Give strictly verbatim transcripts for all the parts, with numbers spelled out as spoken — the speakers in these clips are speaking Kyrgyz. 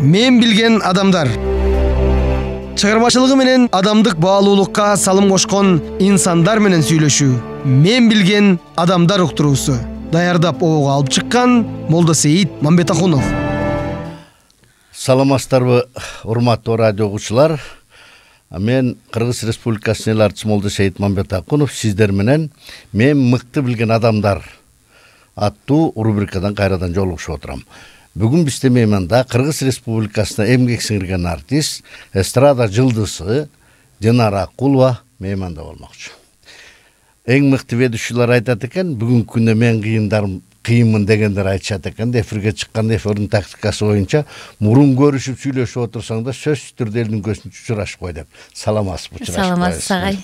Мен билген адамдар. Чыгармачылыгы менен адамдык баалуулукка салым кошкон инсандар менен сүйлөшүү. Мен билген адамдар уктуруусу. Даярдап обого алып чыккан Молдосейит Мамбетахунов. Саламатсыздарбы, урматтуу радио угуучулар. Мен Кыргыз Республикасынын эл артчысы Молдосейит Мамбетахунов сиздер менен мен мыкты билген адамдар аттуу рубрикадан кайрадан жолугушуп отурам. Бүгүн бизде мейманда Кыргыз Республикасына эмгек сиңирген артист, эстрада жылдызы Динара Акулова мейманда болмокчу. Эң мыкты ведущийлер айтат экен, бүгүнкү күндө мен кыйындарым кыйынмын дегендер айтышат экен. Эфирге чыккан эфирдин тактикасы боюнча мурун көрүшүп сүйлөшүп отурсаң да сөзсүз түрдө элдин көзүнө учурашып кой деп. Саламатсызбы, учурашып. Саламатсыз агай.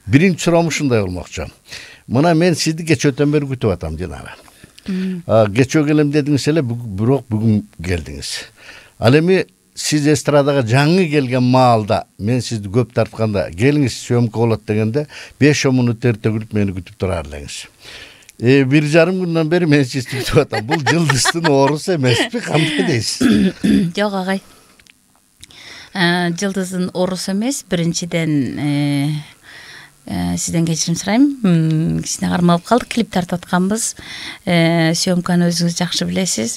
Биринчи суроом ушундай болмокчу. Мына мен сизди кечөөтөн бери күтүп атам, Динара. Кечөө келем дедиңиз эле, бирок бүгүн келдиңиз. Ал эми сиз эстрадага жаңы келген маалда мен сизди көп тартканда келиңиз съемка болот дегенде беш он мүнөт эрте күлүп мени күтүп турар элеңиз. Э бир жарым күндөн бери мен сизди күтүп атам. Бул жылдыздын оорусу эмеспи? Кандай дейсиз? Жок агай. Жылдыздын оорусу эмес. Биринчиден сизден кечирим сурайм. Кичине кармалып калдык, клип тартып атканбыз. Съемканы өзүңүз жакшы билесиз.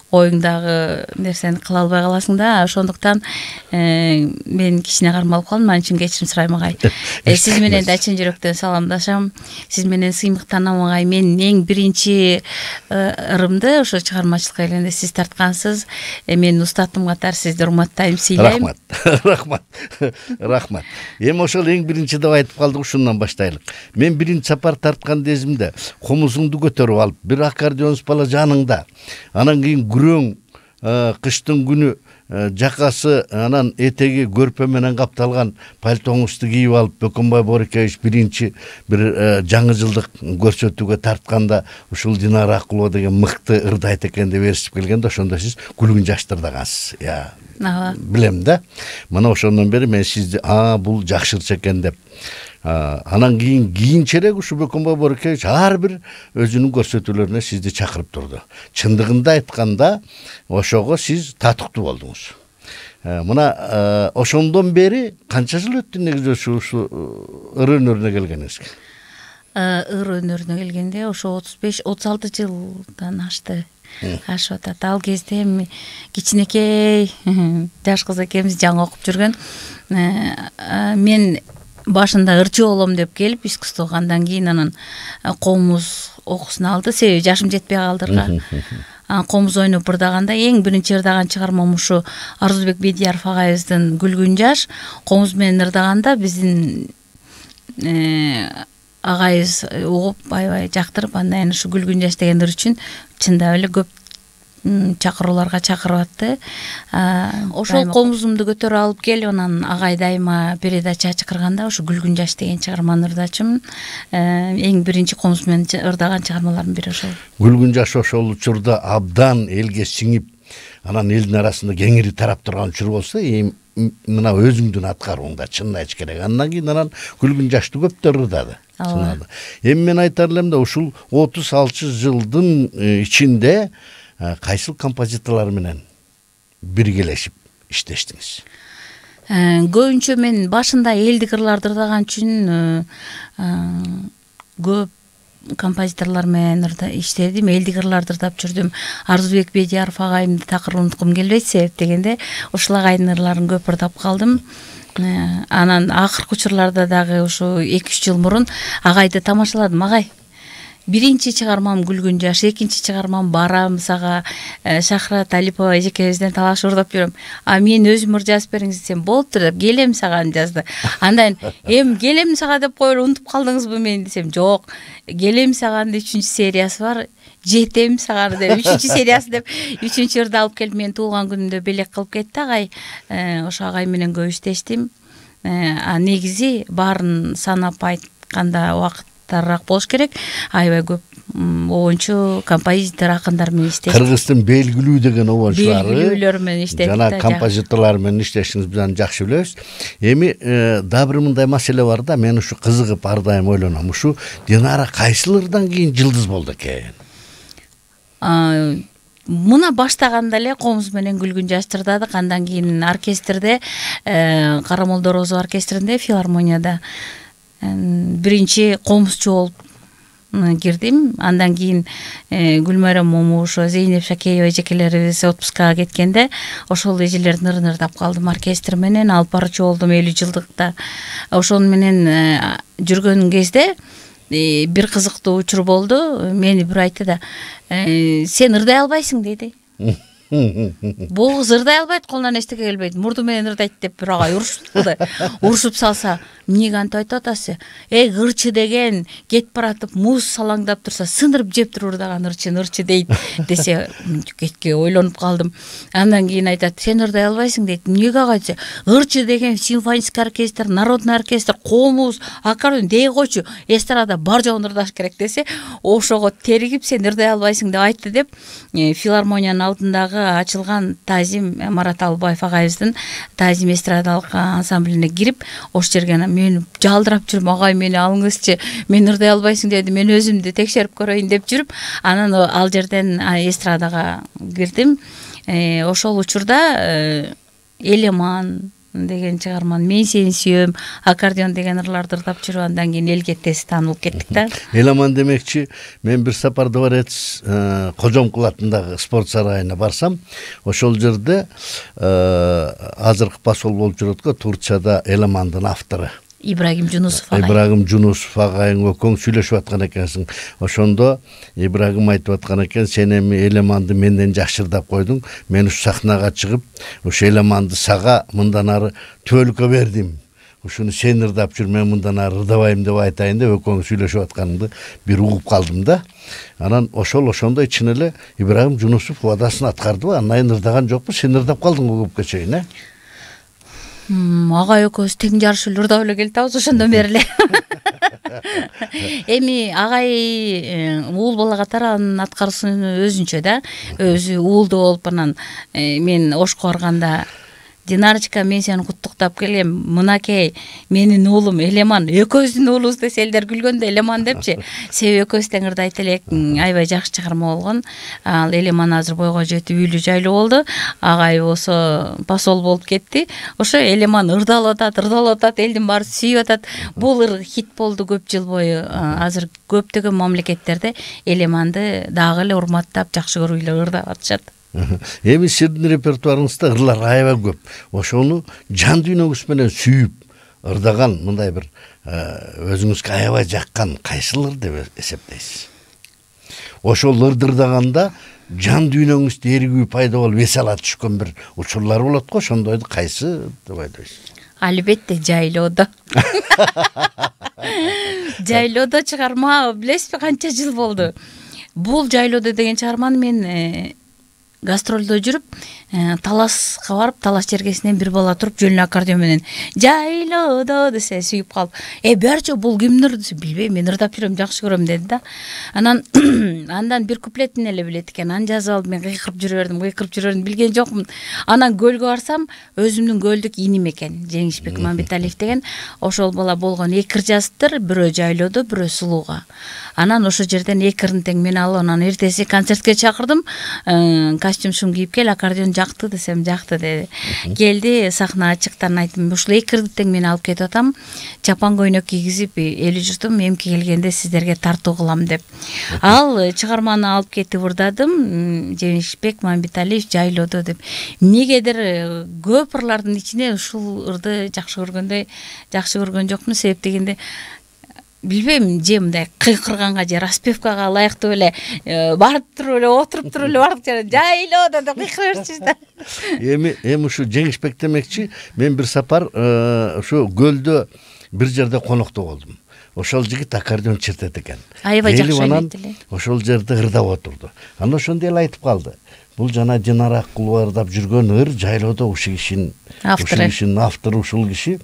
Оюңдагы нерсени кыла албай каласың да, ошондуктан мен кичине кармалып калдым. Анын үчүн кечирим сурайм агай. Сиз менен да чын жүрөктөн саламдашам. Сиз менен сыймыктанам агай. Мен эң биринчи ырымды ошо чыгармачылыкка келгенде сиз тарткансыз. Мен устатым катары сизди урматтайм, сыйлайм. Рахмат. Рахмат. Рахмат. Эми ошол эң биринчи деп айтып калдык, ушундан баштайлык. Мен биринчи сапар тарткан кезимде комузуңду көтөрүп алып, бир аккордеонс бала жаныңда. Анан кийин күрөң кыштын күнү жакасы анан этеги көрпө менен капталган пальтоңузду кийип алып, Бөкөнбай Борекевич биринчи бир жаңы жылдык көрсөтүүгө тартканда ушул Динара Акулова деген мыкты ырды айт экен деп ээрчип келгенде ошондо сиз күлгүн жаштырдагансыз. Я билем да. Мына ошондон бери мен сизди а бул жакшырча экен деп. Анан кийин кийинчерээк ушу Бөкөнбай Борекевич ар бир өзүнүн көрсөтүүлөрүнө сизди чакырып турду. Чындыгында айтканда ошого сиз татыктуу болдуңуз. Мына ошондон бери канча жыл өттү негизи ушу ыр өнөрүнө келгениңизге? Ыр өнөрүнө келгенде ошо отуз беш отуз алты жылдан ашты. Ашып атат. Ал кезде эми кичинекей жаш кыз экебиз жаңы окуп жүргөн. Мен башында ырчы болом деп келип искусствого, андан кийин анан комуз окуусун алды. Себеби жашым жетпей калдырга. Комуз ойноп ырдаганда эң биринчи ырдаган чыгармам ушу Арзубек Бедияров агайыбыздын Күлгүн жаш. Комуз менен ырдаганда биздин агайыбыз угуп, аябай жактырып, андан ушу Күлгүн жаш деген ыр үчүн чындап эле көп чакырууларга чакырып атты. Ошол комузумду көтөрүп алып келип, анан агай дайыма передача чакырганда ушу Күлгүн жаш деген чыгарманы ырдачым. Эң биринчи комуз менен ырдаган чыгармалардын бири ошол. Күлгүн жаш ошол учурда абдан элге сиңип, анан элдин арасында кеңири тарап турган учур болсо, мына өзүңдүн аткарууңда чынын айтыш керек. Андан кийин анан Күлгүн жашты көптөр ырдады. Эми мен айтар элем да, ушул отуз алты жылдын ичинде кайсыл композиторлор менен биргелешип иштештиңиз? Көбүнчө мен башында элдик ырларды ырдаган үчүн көп композиторлор менен иштедим, элдик ырларды ырдап жүрдүм. Арзубек Бедияров агайымды такыр унуткум келбейт, себеп дегенде ушул агайдын ырларын көп ырдап калдым. Анан акыркы учурларда дагы ушу эки үч жыл мурун агайды тамашаладым. Агай, биринчи чыгармам Күлгүн жаш, экинчи чыгармам Барам сага, Шахрат Алипова эжекебизден талашып ырдап жүрөм. А мен өзүм ыр жазып бериңиз десем, болуптур деп, келем сага жазды. Андан эм келем сага деп коюп унутуп калдыңызбы мени десем, жок. Келем сага үчүнчү сериясы бар. Жетем сага деп үчүнчү сериясы деп үчүнчү ырды алып келип мен туулган күнүмдө белек кылып кетти агай. Ошо агай менен көп иштештим. А негизи баарын санап айтканда убакыттарыраак болуш керек. Аябай көп обончу композитор акындар менен иштештим. Кыргыздын белгилүү деген обончулары, белгилүүлөр менен иштедик. Жана композиторлор менен иштешиңизди биз жакшы билебиз. Эми да бир мындай маселе бар да, мен ушу кызыгып ар дайым ойлоном. Ушу Динара кайсыл ырдан кийин жылдыз болду экен? мына баштаганда эле комуз менен күлгүн жаш тырдадык. Андан кийин оркестрде, Карамолдо Розо оркестринде, филармонияда биринчи комузчу болуп кирдим. Андан кийин Гүлмайрам Момушева, Зейнеп Шакеева эжекелерибиз отпускага кеткенде ошол эжелердин ырын ырдап калдым оркестр менен. Алып барчу болдум элүү жылдыкта. Ошон менен жүргөн кезде бир кызыктуу учур болду. Мени бир айтты да, сен ырдай албайсың деди. Бул кыз ырдай албайт, колунан эчтеке келбейт, мурду менен ырдайт деп бир агай урушупту да. Урушуп салса, эмнеге антип айтып атасыз? Эй, ырчы деген кетип баратып, муз салаңдап турса, сындырып жеп туруп ырдаган ырчын ырчы дейт десе, кетке ойлонуп калдым. Андан кийин айтат, сен ырдай албайсың дейт. Эмнеге агай десе, ырчы деген симфонический оркестр, народный оркестр, комуз, аккордеон дей койчу, эстрада бар жогун ырдаш керек десе, ошого теригип сен ырдай албайсың деп айтты деп, филармониянын алдындагы ачылган Тазим Марат Албаев агайыбыздын Тазим эстрадалык ансамблине кирип, ош жерге мен жалдырап жүрүм, агай мени алыңызчы, мен ырдай албайсың деди, мен өзүмдү текшерип көрөйүн деп жүрүп, анан ал жерден эстрадага кирдим. Ошол учурда Элеман деген чыгарманы, Мен сени сүйөм, аккордеон деген ырларды ырдап жүрүп, андан кийин элге тез таанылып кеттик да. Элеман демекчи, мен бир сапар дворец Кожомкул атындагы спорт сарайына барсам, ошол жерде азыркы посол болуп жүрөт го Турцияда Элемандын автору Ибрагим Жунусов агай. Ибрагим Жунусов агайыңа көң сүйлөшүп аткан экенсиң. Ошондо Ибрагим айтып аткан экен, сен эми Элеманды менден жакшырдап койдуң. Мен ушу сахнага чыгып, ушу Элеманды сага мындан ары түбөлүккө бердим. Ушуну сен ырдап жүр, мен мындан ары ырдабайм деп айтайын деп экөөң сүйлөшүп атканыңды бир угуп калдым да. Анан ошол ошондой чын эле Ибрагим Жунусов убадасын аткардыбы? Андан ырдаган жокпу, сен ырдап калдың го көпкө чейин, э? Агай экөөбүз тең жарышып ырдап эле келатабыз ошондон бери эле. Эми агай уул бала катары анын аткаруусу өзүнчө да. Өзү уулду болуп анан мен Ошко барганда, Динарочка, мен сени куттуктап келем, мынакей менин уулум Элеман, экөөбүздүн уулубуз десе элдер күлгөндө Элеман депчи. Себеби экөөбүз тең ырдайт элек, аябай жакшы чыгарма болгон. Ал Элеман азыр бойго жетип үйлүү жайлуу болду. Агай болсо посол болуп кетти. Ошо Элеман ырдалып атат, ырдалып атат, элдин баары сүйүп атат. Бул ыр хит болду көп жыл бою. Азыр көптөгөн мамлекеттерде Элеманды дагы эле урматтап, жакшы көрүп эле ырдап атышат. Эми сиздин репертуарыңызда ырлар аябай көп. Ошону жан дүйнөңүз менен сүйүп ырдаган мындай бир өзүңүзгө аябай жаккан кайсыл ыр деп эсептейсиз? Ошол ырды ырдаганда жан дүйнөңүздө эригүү пайда болуп эс ала түшкөн бир учурлар болот го, ошондойду кайсы деп айтасыз? Албетте Жайлоодо. Жайлоодо чыгарма билесизби канча жыл болду. Бул Жайлоодо деген чыгарманы мен гастролдо жүрүп, таласка барып, талас жергесинен бир бала туруп, жөн аккордеон менен Жайлоодо десе сүйүп калып, э берчи бул кимдир десе, билбейм, мен ырдап жүрөм, жакшы көрөм деди да. Анан андан бир куплетин эле билет экен. Аны жазып алып, мен кыйкырып жүрө бердим, кыйкырып жүрөрүм, билген жокмун. Анан көлгө барсам, өзүмдүн көлдүк иним экен, Жеңишбек Мамбеталиев деген. Ошол бала болгон эки ыр жазыптыр, бирөө Жайлоодо, бирөө Сулууга. Анан ошол жерден эки ырын тең мен алып, анан эртеси концертке чакырдым. Костюм кийип кел, аккордеон жакты десем, жакты деди. Келди, сахнага чыкты, айттым, ушул эки ырды тең мен алып кетип атам. Чапан көйнөк кийгизип, эли журтум эмки келгенде сиздерге тартуу кылам деп. Ал чыгарманы алып кетип ырдадым. Жеңишбек Мамбеталиев Жайлоодо деп. Эмнегедир көп ырлардын ичине ушул ырды жакшы көргөндөй, жакшы көргөн жокмун, себеп дегенде билбейм, же мындай кыйкырганга же распевкага ылайыктуу эле барып туруп эле, отуруп туруп эле бардык жана Жайлоодо деп кыйкыра берчүбүз да. Эми эми ушу Жеңишбек демекчи, мен бир сапар ушу көлдө бир жерде конокто болдум. Ошол жигит аккордеон чертет экен. Аябай жакшы ойнойт эле. Ошол жерде ырдап отурду. Анан ошондо эле айтып калды. Бул жана Динара Аккулова ырдап жүргөн ыр Жайлоодо ушул кишинин автору, ушул киши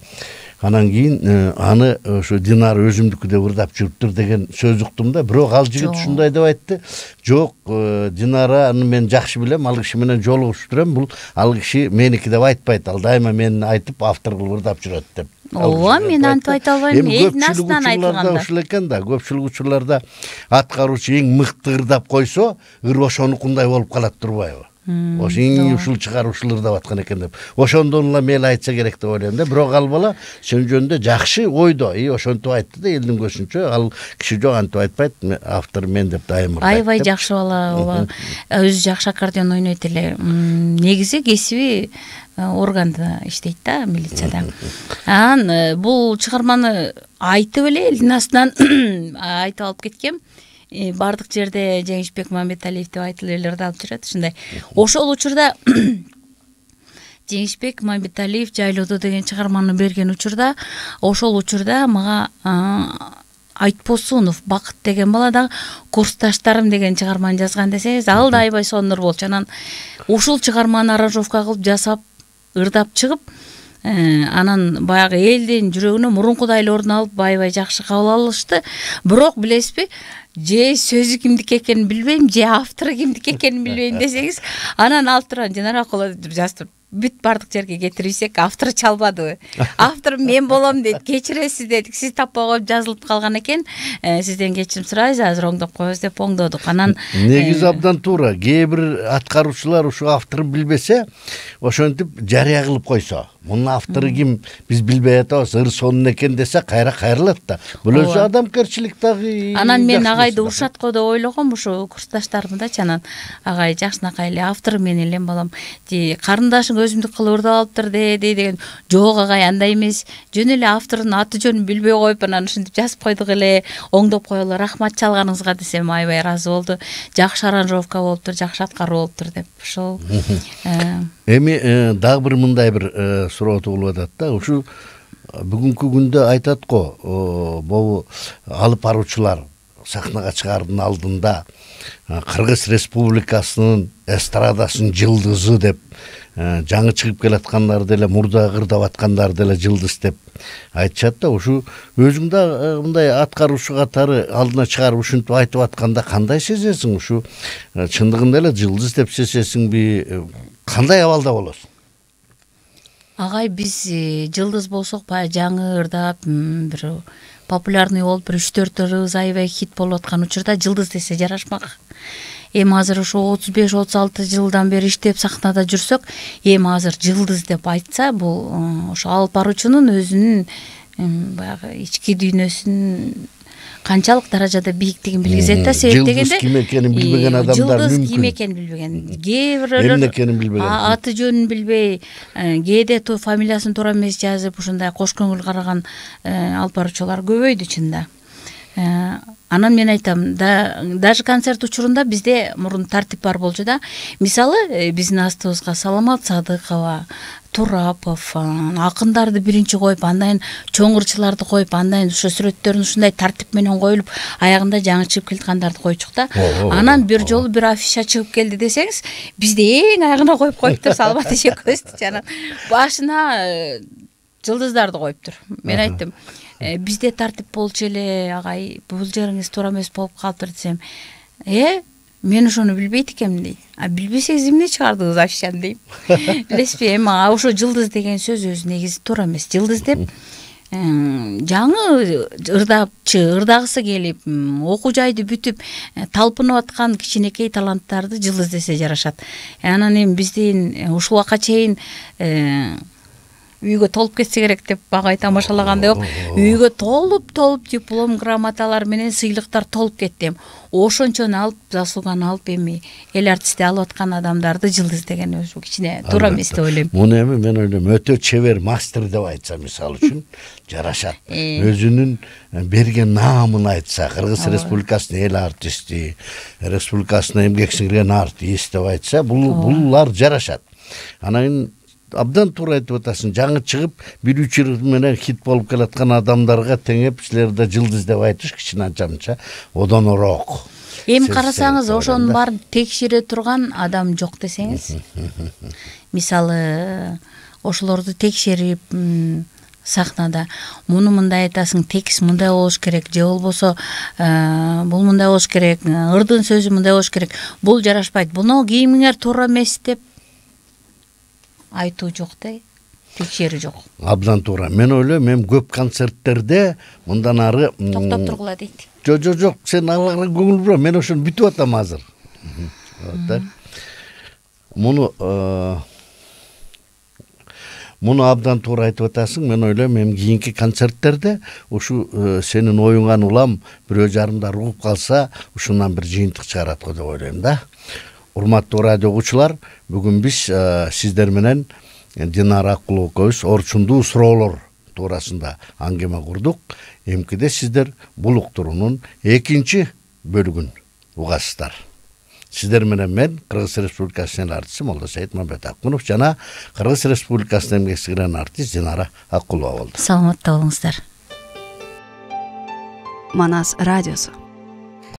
Анан кийин аны ошо Динара өзүмдүкү деп ырдап жүрүптүр деген сөз уктум да. Бирок ал жигит ушундай деп айтты. Жок, Динараны мен жакшы билем, ал киши менен жолугушуп турам. Бул ал киши меники деп айтпайт. Ал дайыма мени айтып автор кылып ырдап жүрөт деп. Ооба, мен антип айта албайм. Эми көпчүлүк учурларда ушул экен да. Көпчүлүк учурларда аткаруучу эң мыкты ырдап койсо, ыр ошонукундай болуп калат турбайбы? Ошо эң ушул чыгар ушул ырдап аткан экен деп. Ошондон эле мейли айтса керек деп ойлойм да. Бирок ал бала сен жөнүндө жакшы ойдо. И ошентип айтты да, элдин көзүнчө ал киши жок антип айтпайт. Автор мен деп дайым ырдайт. Аябай жакшы бала, ооба. Өзү жакшы аккордеон ойнойт эле. Негизи кесиби органда иштейт да, милицияда. Анан бул чыгарманы айтып эле элдин астынан айтып алып кеткем. Бардык жерде Жеңишбек Мамбеталиев деп айтылып эле ырдалып жүрөт. Ушундай. Ошол учурда Жеңишбек Мамбеталиев Жайлоодо деген чыгарманы берген учурда, ошол учурда мага Айтпосунов Бакыт деген бала да курсташтарым деген чыгарманы жазган десеңиз, ал да аябай сонур болчу. Анан ушул чыгарманы аранжировка кылып жасап, ырдап чыгып, анан баягы элдин жүрөгүнө мурункудай эле орун алып, аябай жакшы кабыл алышты. Бирок билесизби, же сөзү кимдики экенин билбейм, же автору кимдики экенин билбейм десеңиз, анан алып турган Динара коло жазып туруп, бүт бардык жерге кетирсек, автор чалбадыбы? Автор мен болом дейт, кечиресиз дедик, сиз таппай коюп жазылып калган экен, сизден кечирим сурайбыз, азыр оңдоп коебуз деп оңдодук. Анан негизи абдан туура. Кээ бир аткаруучулар ушу автору билбесе, ошентип жарыя кылып койсо, мунун автору ким, биз билбей атабыз, ыр сонун экен десе, кайра кайрылат да. Бул өзү адамкерчилик дагы. Анан мен агайды ушатко деп ойлогом, ушу курсташтарымдачы. Анан агай жакшынакай эле автору мен элем балам, ди карындашың өзүмдүк кылып ырдап алыптыр де деген. Жок агай, андай эмес. Жөн эле автордун аты жөнүн билбей коюп, анан ушинтип жазып койдук эле, оңдоп коелу, рахмат чалганыңызга десем, аябай ыраазы болду. Жакшы аранжировка болуптур, жакшы аткаруу болуптур деп. Ошол. Эми дагы бир мындай бир суроо туулуп атат да. Ушу бүгүнкү күндө айтат го, могу алып баруучулар сахнага чыгаардын алдында Кыргыз Республикасынын эстрадасынын жылдызы деп, жаңы чыгып келаткандар деле, мурда ырдап аткандар деле жылдыз деп айтышат да. Ушу өзүң да мындай аткаруучу катары алдына чыгарып ушинтип айтып атканда кандай сезесиң? Ушу чындыгында эле жылдыз деп сезесиңби? Кандай абалда болосуң? Агай, биз жылдыз болсок, баягы жаңы ырдап, бир популярный болуп, бир үч төрт ырыбыз аябай хит болуп аткан учурда жылдыз десе жарашмак. Эми азыр ошо отуз беш отуз алты жылдан бери иштеп сахнада жүрсөк, эми азыр жылдыз деп айтса, бул ошо алып баруучунун өзүнүн баягы ички дүйнөсүн канчалык даражада бийиктигин билгизет да. Себеп дегенде, жылдыз ким экенин билбеген адамдар мүмкүн. Жылдыз ким экенин билбеген. Кээ бирөөлөр эмне экенин билбеген. Аты жөнүн билбей, кээде фамилиясын туура эмес жазып, ушундай кош көңүл караган алып баруучулар көбөйдү чында. Анан мен айтам, даже концерт учурунда бизде мурун тартип бар болчу да. Мисалы, биздин астыбызга Саламат Садыкова, Турапов, акындарды биринчи коюп, андан чоңурчуларды коюп, андан ошо сүрөттөрүн ушундай тартип менен коюлуп, аягында жаңы чыгып келаткандарды койчук да. Анан бир жолу бир афиша чыгып келди десеңиз, бизди эң аягына коюп коюптур Саламат эжекебизди. Анан башына жылдыздарды коюптур. Мен айттым, бизде тартип болчу эле, агай, бул жериңиз туура эмес болуп калыптыр десем, э, мен ошону билбейт экенмин дейт. А билбесеңиз эмне чыгардыңыз афишаны дейм. Билесизби, эми ошо жылдыз деген сөз өзү негизи туура эмес. Жылдыз деп жаңы ырдапчы, ырдагысы келип, окуу жайды бүтүп, талпынып аткан кичинекей таланттарды жылдыз десе жарашат. Анан эми биздин ушул убакка чейин үйгө толуп кетсе керек деп багай тамашалагандай ок. Үйгө толуп толуп диплом, грамоталар менен сыйлыктар толуп кетти. Ошончону алып, заслуганы алып, эми эл артисти алып аткан адамдарды жылдыз деген өзү кичине туура эмес деп ойлойм. Муну эми мен ойлойм, өтө чебер мастер деп айтса, мисалы үчүн жарашат. Өзүнүн берген наамын айтса, Кыргыз Республикасынын эл артисти, республикасына эмгек сиңирген артист деп айтса, бул булар жарашат. Анан абдан туура айтып атасың. Жаңы чыгып, бир үч ыр менен хит болуп келаткан адамдарга теңеп, силерде жылдыз деп айтыш кичине анча-мынча одонорок. Эми карасаңыз, ошонун баарын текшере турган адам жок десеңиз. Мисалы, ошолорду текшерип, сахнада муну мындай айтасың, текст мындай болуш керек, же болбосо бул мындай болуш керек, ырдын сөзү мындай болуш керек, бул жарашпайт, буну кийимиңер туура эмес деп айтуу жок да, текшерүү жок. Абдан туура. Мен ойлойм, мен көп концерттерде мындан ары токтоп тургула дейт. Жок, жок, жок, сен аларга көңүл бура, мен ошону бүтүп атам азыр. Муну Муну абдан туура айтып атасың. Мен ойлойм, мен кийинки концерттерде ушу сенин оюңан улам бирөө жарымдар угуп калса, ушундан бир жыйынтык чыгарат го деп ойлойм да. Урматтуу радио угуучулар, бүгүн биз сиздер менен Динара Акулова экөөбүз орчундуу суроолор туурасында аңгеме курдук. Эмкиде сиздер бул уктуруунун экинчи бөлүгүн угасыздар. Сиздер менен мен Кыргыз Республикасынын артисти Молдосейит Мамбетакунов жана Кыргыз Республикасынын эмгек сиңирген артист Динара Акулова болду. Саламатта болуңуздар. Манас радиосу.